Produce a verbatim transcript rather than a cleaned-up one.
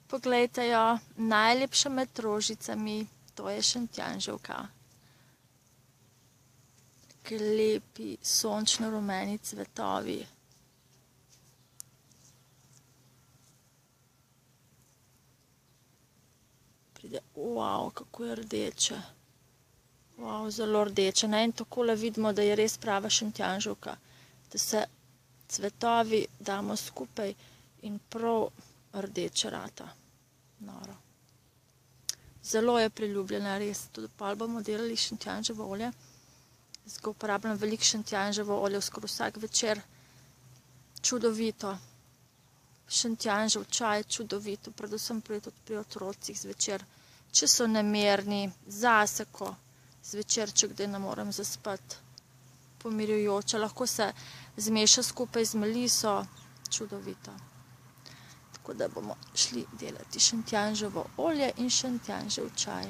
Poglejte jo, najlepša med rožicami, to je šentjanževka. Ki lepi sončno rumeni cvetovi. Pride, wow, kako je rdeče. Wow, zelo rdeče. In takole vidimo, da je res prava šentjanževka. Da se cvetovi damo skupaj in prav rdeče rata. Noro. Zelo je priljubljena, res. Tudi pol bomo delali šentjanževo olje. Jaz ga uporabljam veliko šentjanževo olje, skoraj vsak večer. Čudovito. Šentjanžev čaj, čudovito. Predvsem pri otrocih zvečer. Če so nemirni, zase, ko zvečer, če kdaj ne morem zaspati, pomirjujoče. Lahko se zmeša skupaj z meliso, čudovito. Tako da bomo šli delati šentjanževo olje in šentjanžev čaj.